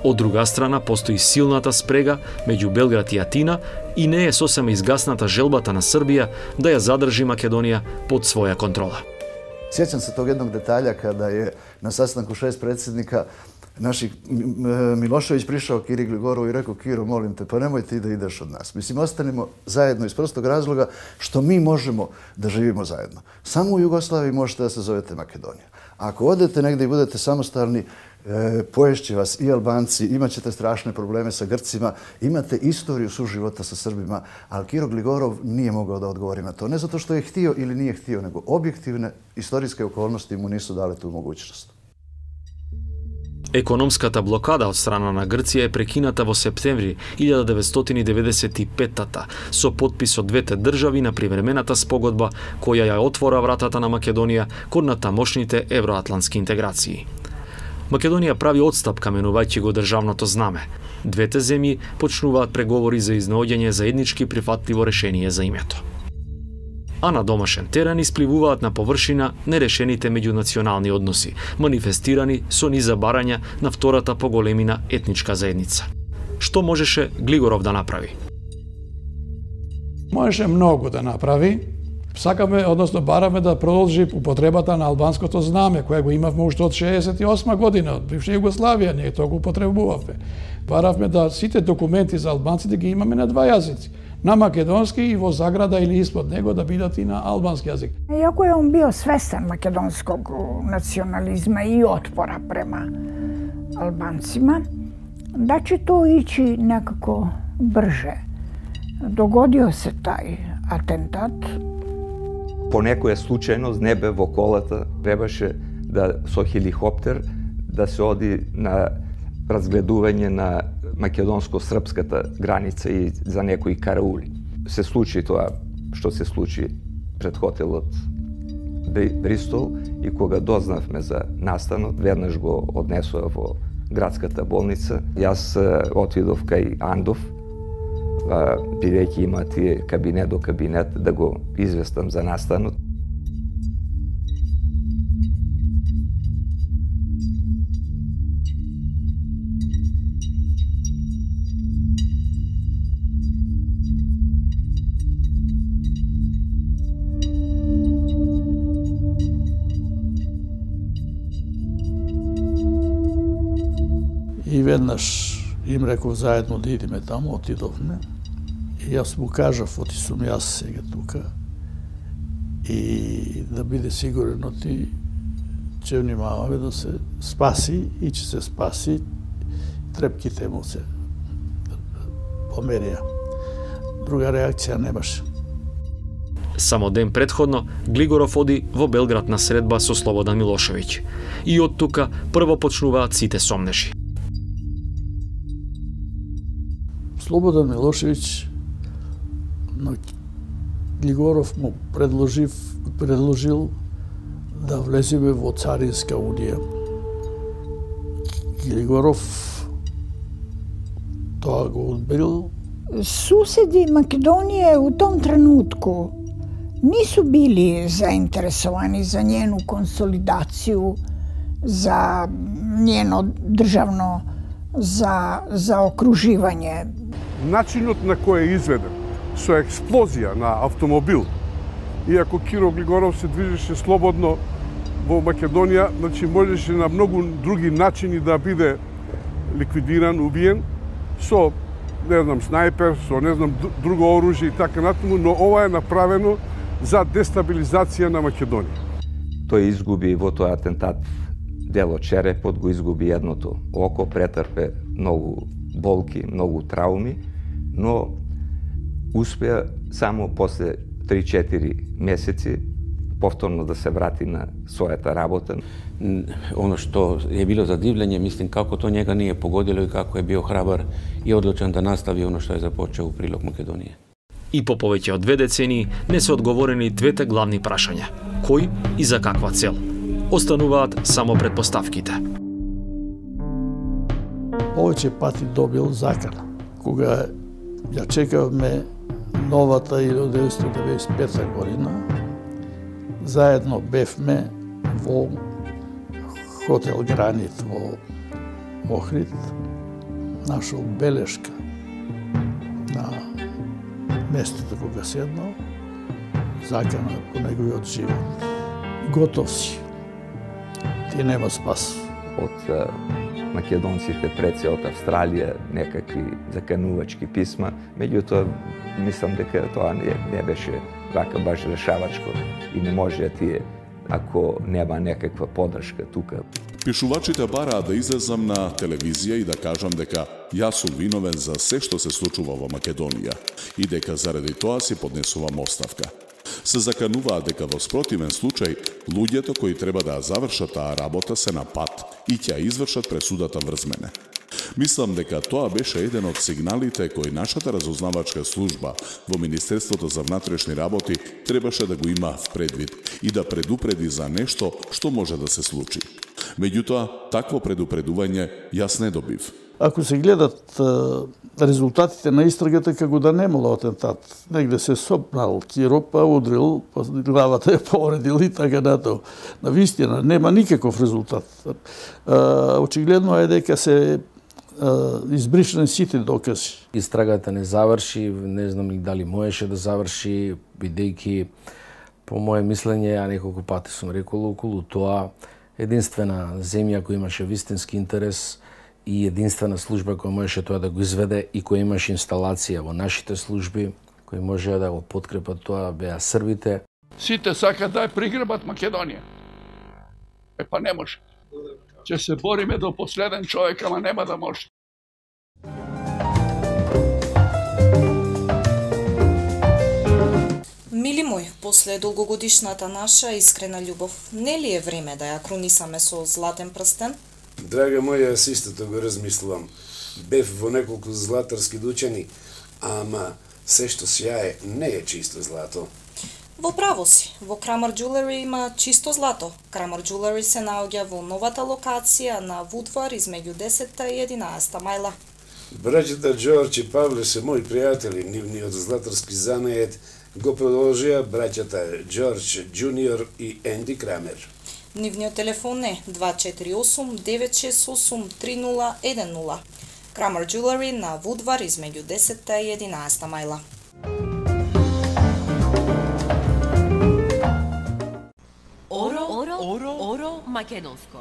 Од друга страна, постои силната спрега меѓу Белград и Атина и не е сосема изгасната желбата на Србија да ја задржи Македонија под своја контрола. Сjećam se tog jednog detalja kada je na sastanku šest predsjednika naših Milošević prišao Kiri Gligorovu i rekao: Kiro, molim te, pa nemoj ti da ideš od nas. Mislim, ostanimo zajedno iz prostog razloga što mi možemo da živimo zajedno. Samo u Jugoslaviji možete da se zovete Makedonija. Ako odete negdje i budete samostalni, e, poješće vas i Albanci, imat ćete strašne probleme sa Grcima, imate istoriju suživota sa Srbima, ali Kiro Gligorov nije mogao da odgovori na to. Ne zato što je htio ili nije htio, nego objektivne istorijske okolnosti mu nisu dale tu mogućnost. Економската блокада од страна на Грција е прекината во септември илјада деветстотини деведесет и петта со подпис од двете држави на привремената спогодба која ја отвора вратата на Македонија кон натамошните евроатлантски интеграции. Македонија прави одстапка менувајќи го државното знаме. Двете земји почнуваат преговори за изнаоѓање заеднички прифатливо решение за името. А на домашен терен испливуваат на површина нерешените меѓунационални односи, манифестирани со низа барања на втората по големина етничка заедница. Што можеше Глигоров да направи? Можеше многу да направи. Сакаме, односно бараме да продолжи употребата на албанското знаме, кое го имавме уште од шеесет и осма година, од бивша Југославија, ние тоа го употребувавме. Баравме да сите документи за албанците ги имаме на два јазици. На македонски и во заграда или испод него да бидат и на албански јазик. Иако е он био свестен македонскog национализма и отпора према албанцима, да će to ići nekako brže. Dogodio se taj atentat. По некоја случајност небе во колата требаше да со хеликоптер да се оди на разгледување на македонско-српската граница и за некои караули. Се случи тоа што се случи пред хотелот Бристол и кога дознавме за настанот, веднаш го однесоа во градската болница. Јас отидов кај Андов, бидејќи има тие кабинет до кабинет, да го известам за настанот. И веднаш им реков заедно да идеме таму, отидовме. И јас му кажав, оти сум јас сега тука. И да биде сигурно ти ќе внимаваме да се спаси и ќе се спаси. Трепките му се померија. Друга реакција немаше. Само ден предходно, Глигоров оди во Белград на средба со Слободан Милошевиќ. И од тука прво почнуваат сите сомнежи. Слободан Милошевиќ на Глигоров му предложив, предложил да влеземе во Царинска унија. Глигоров тоа го одбил. Суседи Македонije u tom trenutku nisu bili zainteresovani za njenu konsolidaciju, za njeno državno za, za okruživanje. Начинот на кој е изведен, со експлозија на автомобил, иако Киро Глигоров се движеше слободно во Македонија, значи можеше на многу други начини да биде ликвидиран, убиен, со, не знам, снајпер, со, не знам, друго оружје и така натаму, но ова е направено за дестабилизација на Македонија. Тој изгуби во тој атентат дел од черепот, го изгуби едното око, претрпе многу болки, многу трауми, но успеа само после три-четири месеци повторно да се врати на својата работа. Оно што е било задивлење, мислим како то njega nije pogodilo и како е био храбар и одлучен да настави оно што е започел у прилог Македонија. И по повеќе од две децении не се одговорени двете главни прашања. Кој и за каква цел? Остануваат само предпоставките. Повеќе пати добил закана. Кога ја чекавме новата илјада деветстотини деветдесет и пета година, заедно бевме во хотел Гранит во Охрид, нашол белешка на местото кога седнал, закана по неговиот живот. Готов си. Ти нема спас. Од македонците пред се од Австралија некакви заканувачки писма, меѓутоа мислам дека тоа не, не беше вака баш решавачко и не може да тие ако нема некаква подршка тука. Пишувачите бараат да излезам на телевизија и да кажам дека јас сум виновен за се што се случува во Македонија и дека заради тоа си поднесувам оставка. Се закануваат дека во спротивен случај луѓето кои треба да завршат таа работа се на пат и ќе извршат пресудата врз мене. Мислам дека тоа беше еден од сигналите кои нашата разузнавачка служба во Министерството за внатрешни работи требаше да го има в предвид и да предупреди за нешто што може да се случи. Меѓутоа, такво предупредување јас не добив. Ако се гледат резултатите на истрагата, како да немало атентат. Негде се сопнал Киро, па удрил, па главата ја повредил и така натаму. На вистина, нема никаков резултат. Очигледно е дека се избришани сите докази. Истрагата не заврши, не знам ли дали можеше да заврши, бидејќи по моje мислење, ја неколку пати сум рекол околу тоа, единствена земја која имаше вистински интерес и единствена служба која можеше тоа да го изведе и која имаше инсталација во нашите служби, кои можеа да го подкрепат тоа, беа србите. Сите сакаат да ја приграбат Македонија. Е па не може. Ќе се бориме до последен човек, ама нема да може. Мили мој, после долгогодишната наша искрена љубов, не ли е време да ја крунисаме со златен прстен? Драга моја, јас истото го размислувам. Бев во неколку златарски дучани, ама се што сјае не е чисто злато. Во право си, во Крамер Jewelry има чисто злато. Крамер Jewelry се наоѓа во новата локација на Вудвар измеѓу десетта и единаесетта мајла. Браќата Џорџ и Павле се мои пријатели, нивниот златарски занает го продолжија браќата Џорџ Џуниор и Енди Крамер. Нивниот телефон е два четири осум девет шест осум три нула еден нула. Крамер Jewelry на Вудвар измеѓу десетта и единаесетта мајла. Оро, оро, оро, оро македонско.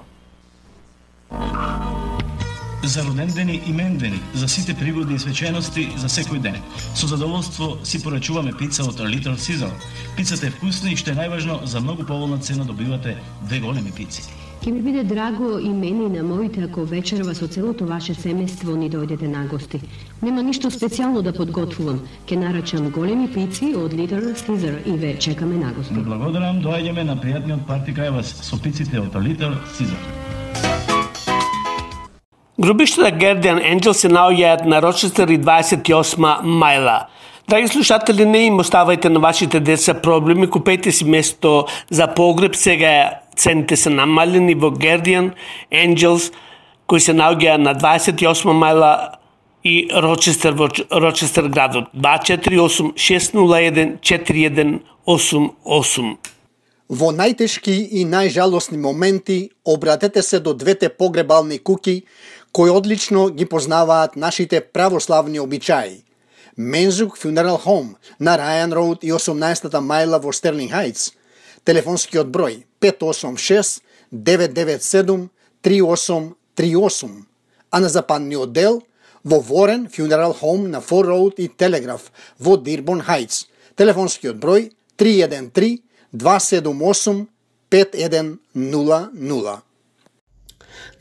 За родендени и мендени, за сите пригодни и свечености за секој ден. Со задоволство си порачуваме пица од Little Caesar. Пицата е вкусна и што е најважно, за многу поволна цена добивате две големи пици. Ке ми биде драго и мене и на моите ако вечерва со целото ваше семејство ни дојдете на гости. Нема ништо специјално да подготвувам. Ке нарачам големи пици од Little Caesar и ве чекаме на гости. Благодарам, доаѓаме на пријатниот парти кај вас со пиците од Little Caesar. Гробиштата Guardian Angel се наоѓаат на Рочестер и дваесет и осма мајла. Драги слушатели, не им оставајте на вашите деца проблеми, купете си место за погреб, сега цените се намалени во Guardian Angels, кои се наоѓаат на дваесет и осма мајла и Рочестер во Рочестер градот. два четири осум шест нула еден четири еден осум осум. Во најтешки и најжалосни моменти обратете се до двете погребални куки кои одлично ги познаваат нашите православни обичаи. Мензук Funeral Home на Ryan Road и осумнаесетта мајла во Стерлинг Хајтс. Телефонскиот број пет осум шест девет девет седум три осум три осум. А на западниот дел во Warren Funeral Home на Ford Road и Телеграф во Дирбон Хајтс. Телефонскиот број три еден три два седум осум пет еден нула нула.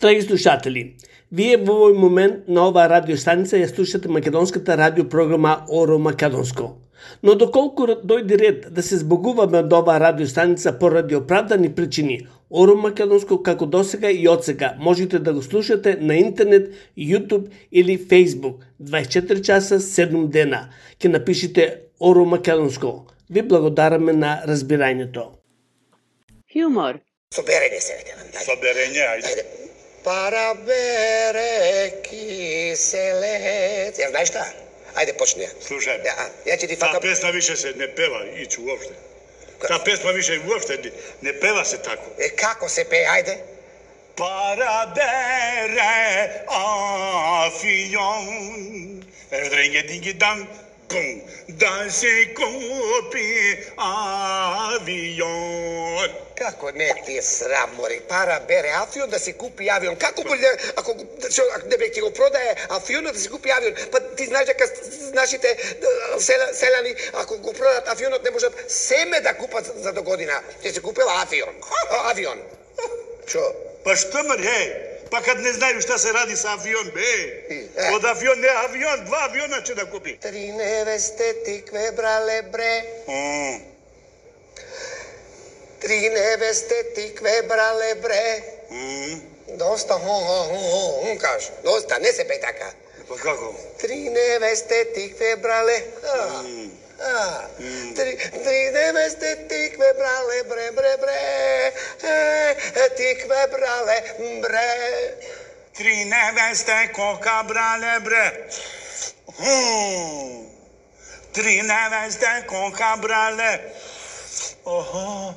Драги слушатели, вие во овој момент на оваа радиостаница ја слушате македонската радиопрограма Оро Македонско. Но доколку дојде ред да се збогуваме од оваа радиостаница поради оправдани причини, Оро Македонско како досега и одсега можете да го слушате на интернет, YouTube или Facebook дваесет и четири часа седум дена. Ке напишите Оро Македонско. Ви благодараме на разбирањето. Хјумор. Соберење се. Соберење, ајде. Парабере киселец. Ја знаеш šta? Ајде почни ја. Слушај. Ја, ја ќе ти фака. Та песна више се не пева ичу уопште. Та песна више уопште не пева се тако. Е како се пее, ајде? Парабере афион. Евдренге динги дан. Бум, да се купи авион. Како не ти е срам, мори? Пара бере авион да се купи авион. Како боли, ако, ако не бе ти го продае авионот да се купи авион? Па ти знаеш дека нашите села, селани, ако го продат авионот, не можат семе да купат за до година. Ќе се купила авион. Авион. Шо? Па што мер, хеј? Па кад не знаеш šta се ради sa авион, бе. Од авион, не авион, два авиона ќе да купи. Три невесте тикве брале, бре. Три невесте тикве брале, бре. Доста, хо, хо, хо, хо, хо, каш. Доста, не се пе така. Па како? Три невесте тикве брале. А, три, три невесте тикве брале, бре, бре, бре, е, тикве брале, бре. Три невесте кока брале, бре. Три невесте кока брале. Охо.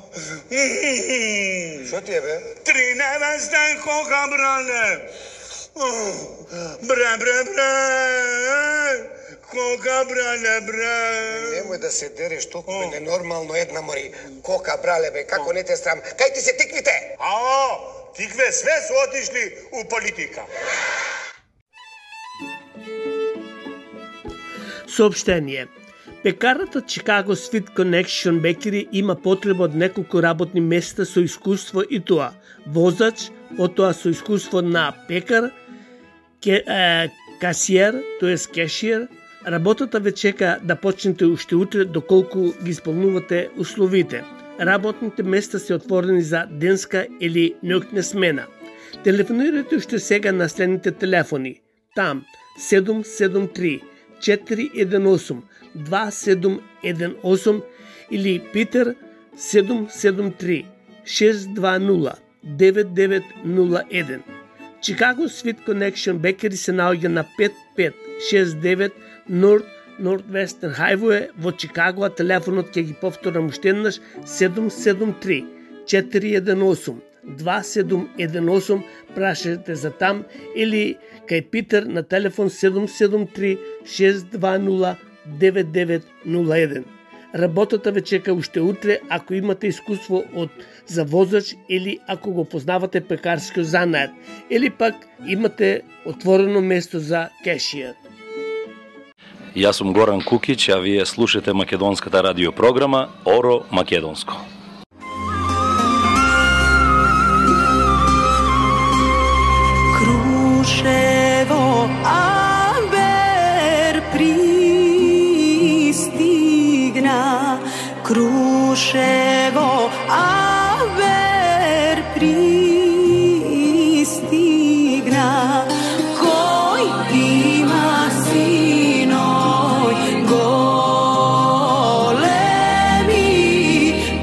Шо ти е, бе? Три невесте кока брале. Бре, бре, бре. Кока брале, бре. Немој да се дереш толку, бе, ненормално една, мори. Кока брале, бе, како не те срам. Кај ти се тиквите? Ао, тикве све се отишли у политика. Сообщение. Пекарата Chicago Sweet Connection Bakery има потреба од неколку работни места со искуство и тоа возач, потоа со искуство на пекар, ке, е, касиер, тоест кешиер. Работата ве чека да почнете уште утре доколку ги исполнувате условите. Работните места се отворени за денска или ноќна смена. Телефонирате уште сега на следните телефони. Там седум седум три четири еден осум два седум еден осум или Питер седум седум три шест два нула девет девет нула еден. Chicago Sweet Connection Bakery се наоѓа на пет пет шест девет North Northwestern Highway во Чикаго, а телефонот ќе ги повторам уште еднаш седум седум три четири еден осум два седум еден осум, прашајте за там или кај Питер на телефон седум седум три шест два нула девет девет нула еден. Работата ве чека уште утре ако имате искуство од за возач или ако го познавате пекарскиот занаат или пак имате отворено место за кешиер. Јас сум Горан Кукиќ, а вие слушате македонската радиопрограма Оро Македонско. Крушево Амбер пристигна, Крушево Амбер пристигна, кој има синој големи,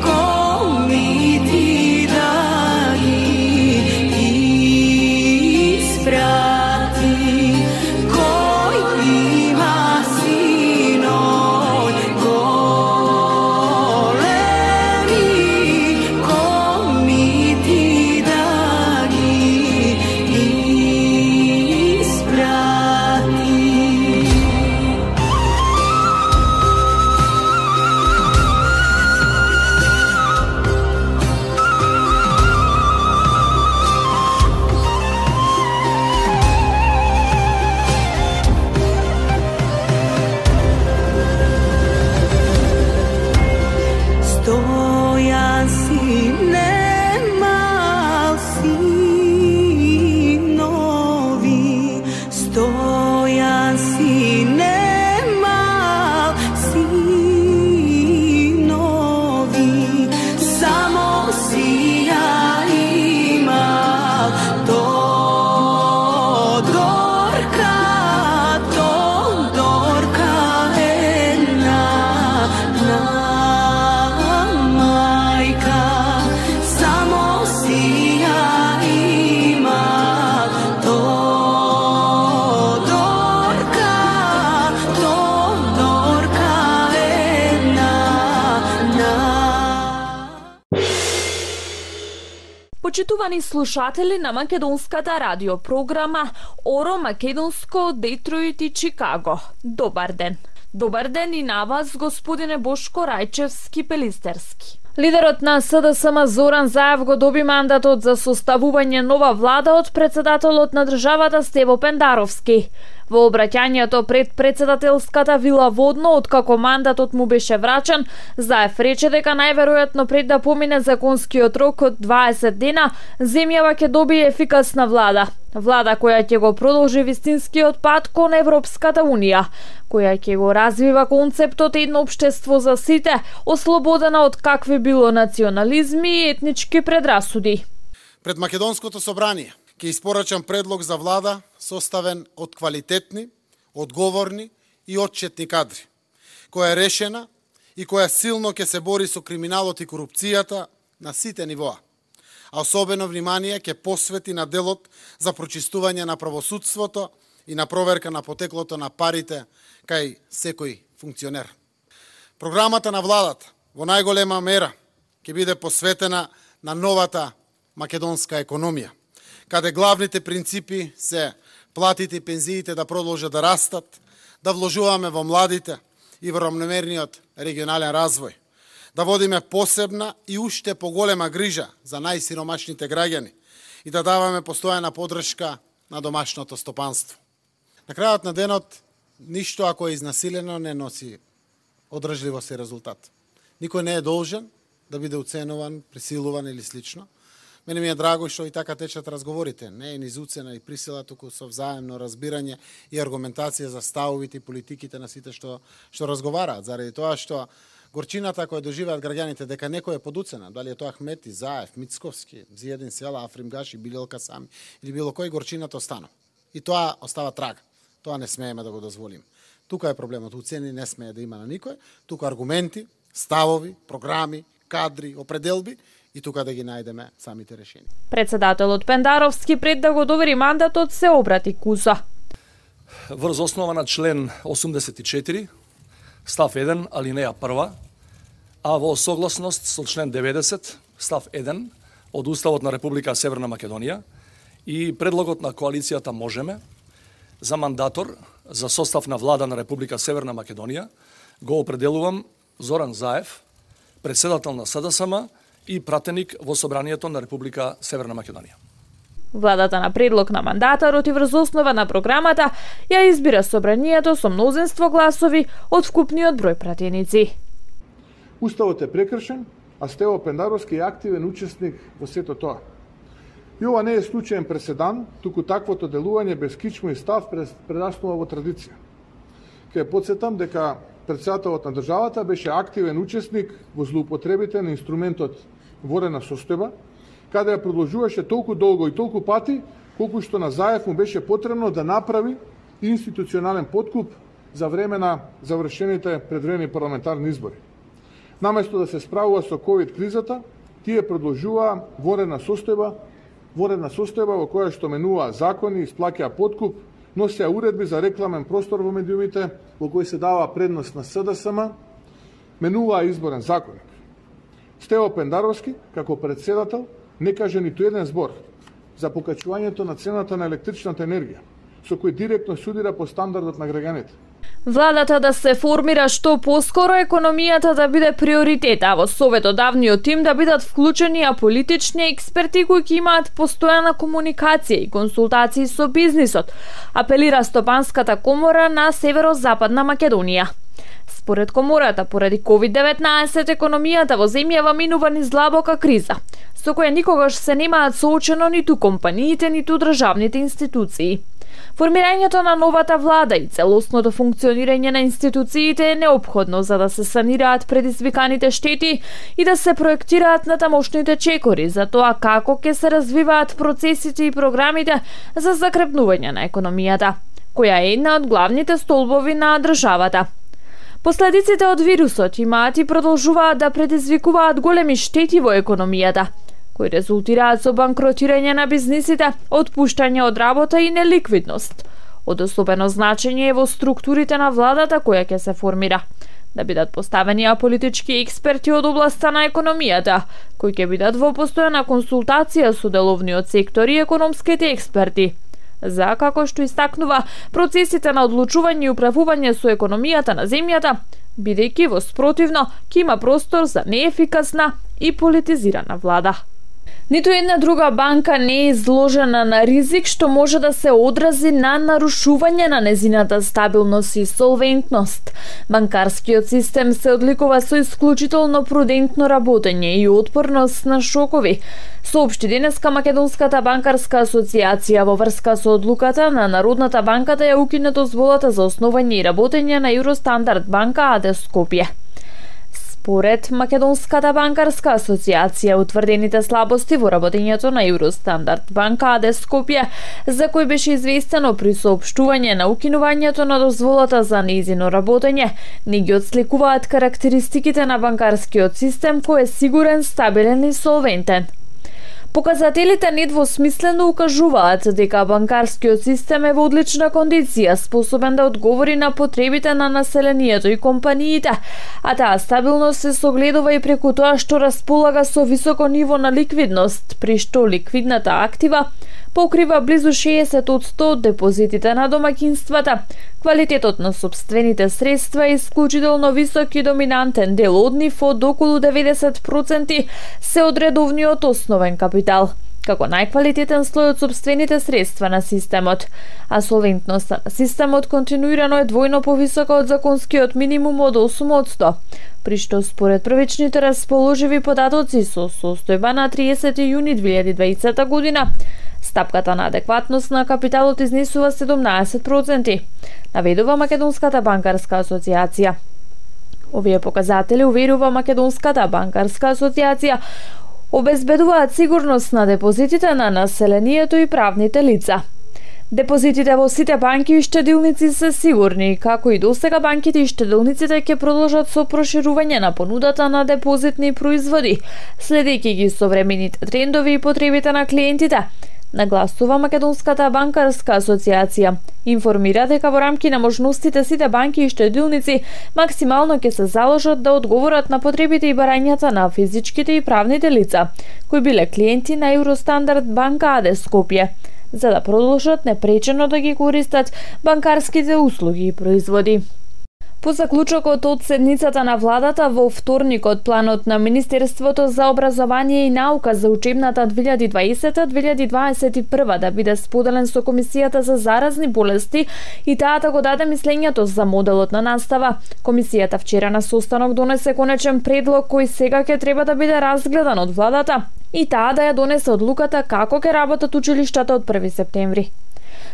кој Почитувани слушатели на македонската радиопрограма Оро Македонско, Детройт и Чикаго. Добар ден. Добар ден и на вас, господине Бошко Рајчевски Пелистерски. Лидерот на СДСМ Зоран Заев го доби мандатот за составување нова влада од председателот на државата Стево Пендаровски. Во обраќањето пред председателската вила Водно, откако мандатот му беше врачен, Заев рече дека најверојатно пред да помине законскиот рок од дваесет дена, земјава ќе добие ефикасна влада. Влада која ќе го продолжи вистинскиот пат кон Европската Унија, која ќе го развива концептот едно општество за сите, ослободена од какви било национализми и етнички предрасуди. Пред Македонското собрание ќе испорачам предлог за влада составен од квалитетни, одговорни и отчетни кадри, која е решена и која силно ќе се бори со криминалот и корупцијата на сите нивоа. А особено внимание ќе посвети на делот за прочистување на правосудството и на проверка на потеклото на парите кај секој функционер. Програмата на владата во најголема мера ќе биде посветена на новата македонска економија, каде главните принципи се платите и пензиите да продолжат да растат, да вложуваме во младите и во рамномерниот регионален развој, да водиме посебна и уште поголема грижа за најсиромашните граѓани и да даваме постојана поддршка на домашното стопанство. На крајот на денот, ништо ако е изнасилено не носи одржливост и резултат. Никој не е должен да биде уценуван, присилуван или слично. Мене ми е драго што и така течат разговорите. Не е низ уцена и присила, туку со взаемно разбирање и аргументација за ставовите и политиките на сите што што разговараат, заради тоа што горчината која доживеат граѓаните дека некој е под уцена, дали е тоа Ахмети, Заев, Мицковски, Зиедин Села, Африм Гаши, Билел Касами или било кој, горчината остана. И тоа остава трага. Тоа не смееме да го дозволиме. Тука е проблемот. Уцени не смее да има на никој, тука аргументи, ставови, програми, кадри, определби и тука да ги најдеме самите решенија. Председателот Пендаровски пред да го довери мандатот се обрати куса. Врз основа на член осумдесет и четири, став еден, алинеја прва, а во согласност со член деветдесет, став еден од Уставот на Република Северна Македонија и предлогот на коалицијата Можеме за мандатор за состав на влада на Република Северна Македонија го определувам Зоран Заев, председател на СДСМ и пратеник во Собранието на Република Северна Македонија. Владата на предлог на мандатарот и врз основа на програмата ја избира Собранието со мнозинство гласови од вкупниот број пратеници. Уставот е прекршен, а Стево Пендаровски е активен учесник во сето тоа. И ова не е случаен преседан, туку таквото делување без кичмо и став прераснува во традиција. Ке потсетам дека председателот на државата беше активен учесник во злоупотребите на инструментот ворена состојба, каде ја продолжуваше толку долго и толку пати, колку што на Заев му беше потребно да направи институционален подкуп за време на завршените предвреди парламентарни избори. Наместо да се справува со ковид кризата, тие продолжуваа ворена состојба, ворена состојба во која што менуваа закони, исплаќаа подкуп, носеа уредби за рекламен простор во медиумите, во кој се дава предност на СДСМ, менуваа изборен законник. Стево Пендаровски, како председател, не каже ниту еден збор за покачувањето на цената на електричната енергија, со кој директно судира по стандардот на граѓаните. Владата да се формира што поскоро, економијата да биде приоритет, а во советодавниот тим да бидат вклучени аполитични експерти кои ќе имаат постојана комуникација и консултации со бизнисот, апелира Стопанската комора на Северозападна Македонија. Според комората, поради ковид деветнаесет, економијата во земјава минува низ длабока криза, со која никогаш се немаат соочено ниту компаниите, ниту државните институции. Формирањето на новата влада и целосното функционирање на институциите е неопходно за да се санираат предизвиканите штети и да се проектираат натамошните чекори за тоа како ќе се развиваат процесите и програмите за закрепнување на економијата, која е една од главните столбови на државата. Последиците од вирусот имаат и продолжуваат да предизвикуваат големи штети во економијата, кои резултираат со банкротирање на бизнисите, отпуштање од работа и неликвидност. Од особено значење е во структурите на владата која ќе се формира, да бидат поставени аполитички експерти од областа на економијата, кои ќе бидат во постојана консултација со деловниот сектор и економските експерти. За, како што истакнува, процесите на одлучување и управување со економијата на земјата, бидејќи во спротивно ќе има простор за неефикасна и политизирана влада. Ниту една друга банка не е изложена на ризик што може да се одрази на нарушување на незината стабилност и солвентност. Банкарскиот систем се одликува со исклучително прудентно работење и отпорност на шокови, соопшти денеска Македонската банкарска асоциација во врска со одлуката на Народната банка да ја укине дозволата за основање и работење на Евростандард банка АД Скопје. Според Македонската банкарска асоциација, утврдените слабости во работењето на Евростандард банка АД Скопје, за кој беше известено при соопштување на укинувањето на дозволата за нејзино работење, не ги отсликуваат карактеристиките на банкарскиот систем кој е сигурен, стабилен и солвентен. Показателите недвосмислено укажуваат дека банкарскиот систем е во одлична кондиција, способен да одговори на потребите на населението и компаниите, а таа стабилност се согледува и преку тоа што располага со високо ниво на ликвидност, при што ликвидната актива покрива близу шеесет одсто од депозитите на домаќинствата. Квалитетот на сопствените средства е исклучително висок и доминантен дел од нив од околу деветдесет проценти се од редовниот основен капитал, како најквалитетен слој од сопствените средства на системот, а солвентноста на системот континуирано е двојно повисока од законскиот минимум од осум одсто, при што според првичните расположиви податоци со состојба на триесети јуни две илјади и дваесета година, стапката на адекватност на капиталот изнесува седумнаесет проценти, наведува Македонската банкарска асоциација. Овие показатели, уверува Македонската банкарска асоциација, обезбедуваат сигурност на депозитите на населението и правните лица. Депозитите во сите банки и штедилници се сигурни, како и досега банките и штедилниците ќе продолжат со проширување на понудата на депозитни производи, следејќи ги современите трендови и потребите на клиентите, нагласува Македонската банкарска асоциација. Информира дека во рамки на можностите сите банки и штедилници максимално ќе се заложат да одговорат на потребите и барањата на физичките и правните лица, кои биле клиенти на Евростандард банка АД Скопје, за да продолжат непречено да ги користат банкарските услуги и производи. По заклучокот од седницата на владата во вторникот, планот на Министерството за образование и наука за учебната две илјади и дваесета - две илјади и дваесет и прва да биде споделен со Комисијата за заразни болести и таата го даде мислењето за моделот на настава. Комисијата вчера на состанок донесе конечен предлог кој сега ќе треба да биде разгледан од владата и таа да ја донесе одлуката како ќе работат училиштата од први септември.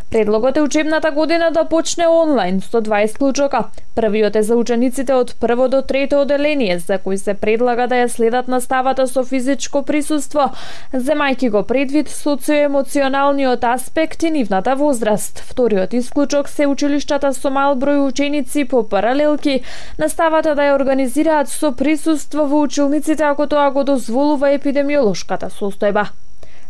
Предлогот е учебната година да почне онлайн со два исклучока. Првиот е за учениците од прво до трето оделение, за кои се предлага да ја следат наставата со физичко присуство, земајќи го предвид социоемоционалниот аспект и нивната возраст. Вториот исклучок се училиштата со мал број ученици по паралелки, наставата да ја организираат со присуство во училниците ако тоа го дозволува епидемиолошката состојба.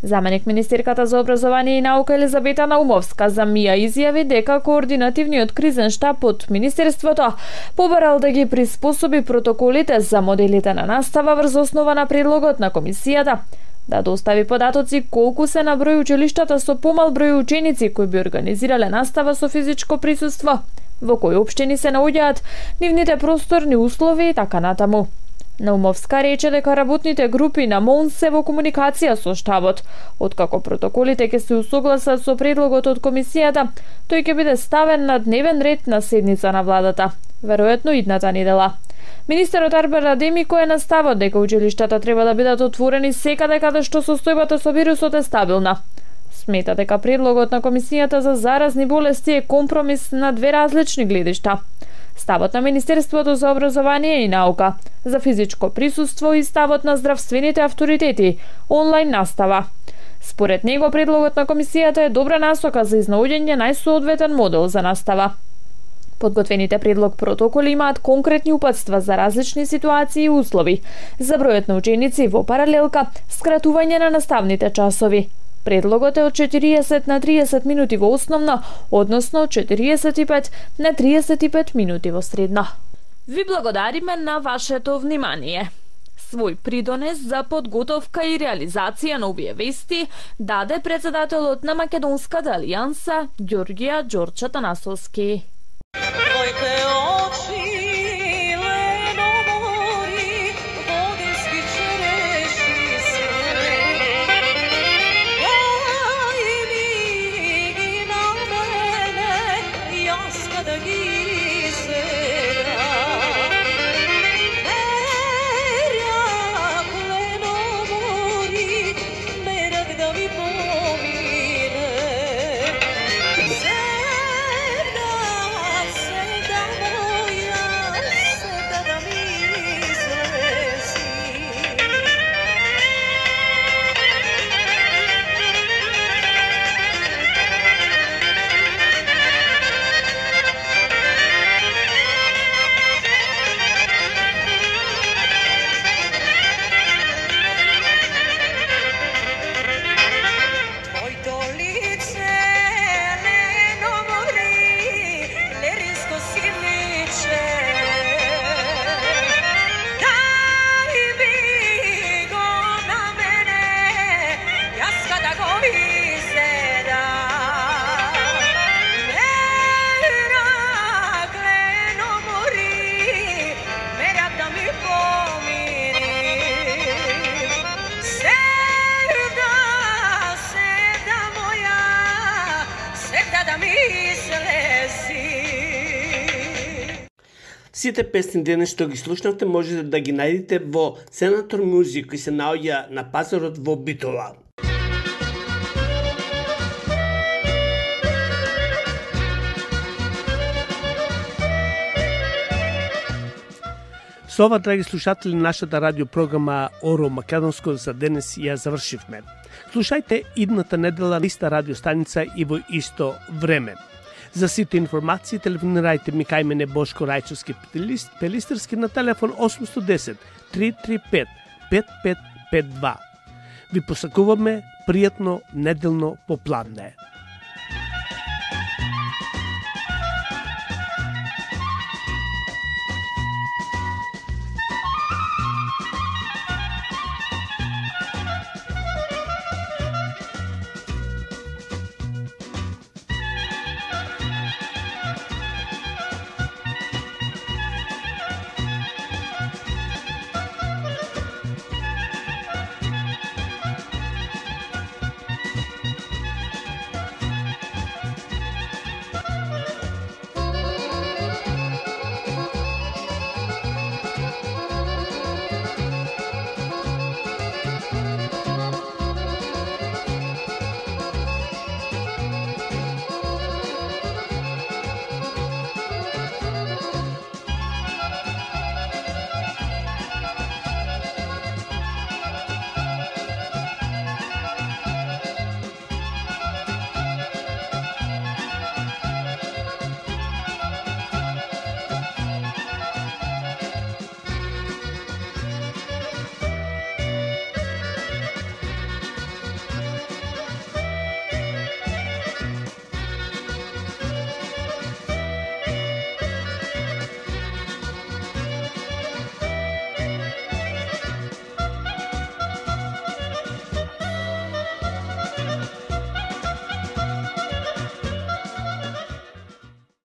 Заменик министерката за образование и наука Елизабета Наумовска за МИА изјави дека координативниот кризен штаб од Министерството побарал да ги приспособи протоколите за моделите на настава врз основа на предлогот на комисијата, да достави податоци колку се на број училиштата со помал број ученици кои би организирале настава со физичко присуство, во кои општини се наоѓаат нивните просторни услови и така натаму. Наумовска рече дека работните групи на МОН се во комуникација со штабот. Откако протоколите ќе се усогласат со предлогот од комисијата, тој ќе биде ставен на дневен ред на седница на владата, веројатно идната недела. Министерот Арбер Адеми кој е на ставот дека училиштата треба да бидат отворени секаде каде што состојбата со вирусот е стабилна. Смета дека предлогот на Комисијата за заразни болести е компромис на две различни гледишта. Ставот на Министерството за образование и наука за физичко присуство и ставот на здравствените авторитети онлайн настава. Според него предлогот на комисијата е добра насока за изнаоѓање најсоодветен модел за настава. Подготвените предлог протоколи имаат конкретни упатства за различни ситуации и услови, за бројот на ученици во паралелка, скратување на наставните часови. Предлогот е од четириесет на триесет минути во основно, односно од четириесет и пет на триесет и пет минути во средно. Ви благодариме на вашето внимание. Свој придонес за подготовка и реализација на овие вести даде председателот на Македонската алијанса Ѓорѓија Ѓорче Танасовски. Сите песни денес што ги слушнавте можете да ги најдете во Senator Music, кој се наоѓа на пазарот во Битола. Со ова, драги слушатели, нашата радиопрограма Оро Македонско за денес ја завршивме. Слушајте идната недела на иста радиостаница и во исто време. За сите информации телефонирајте ми кај мене Бошко Рајчовски Пелистерски на телефон осум едно едесет три три пет пет пет пет два. Ви посакуваме пријатно неделно попладне.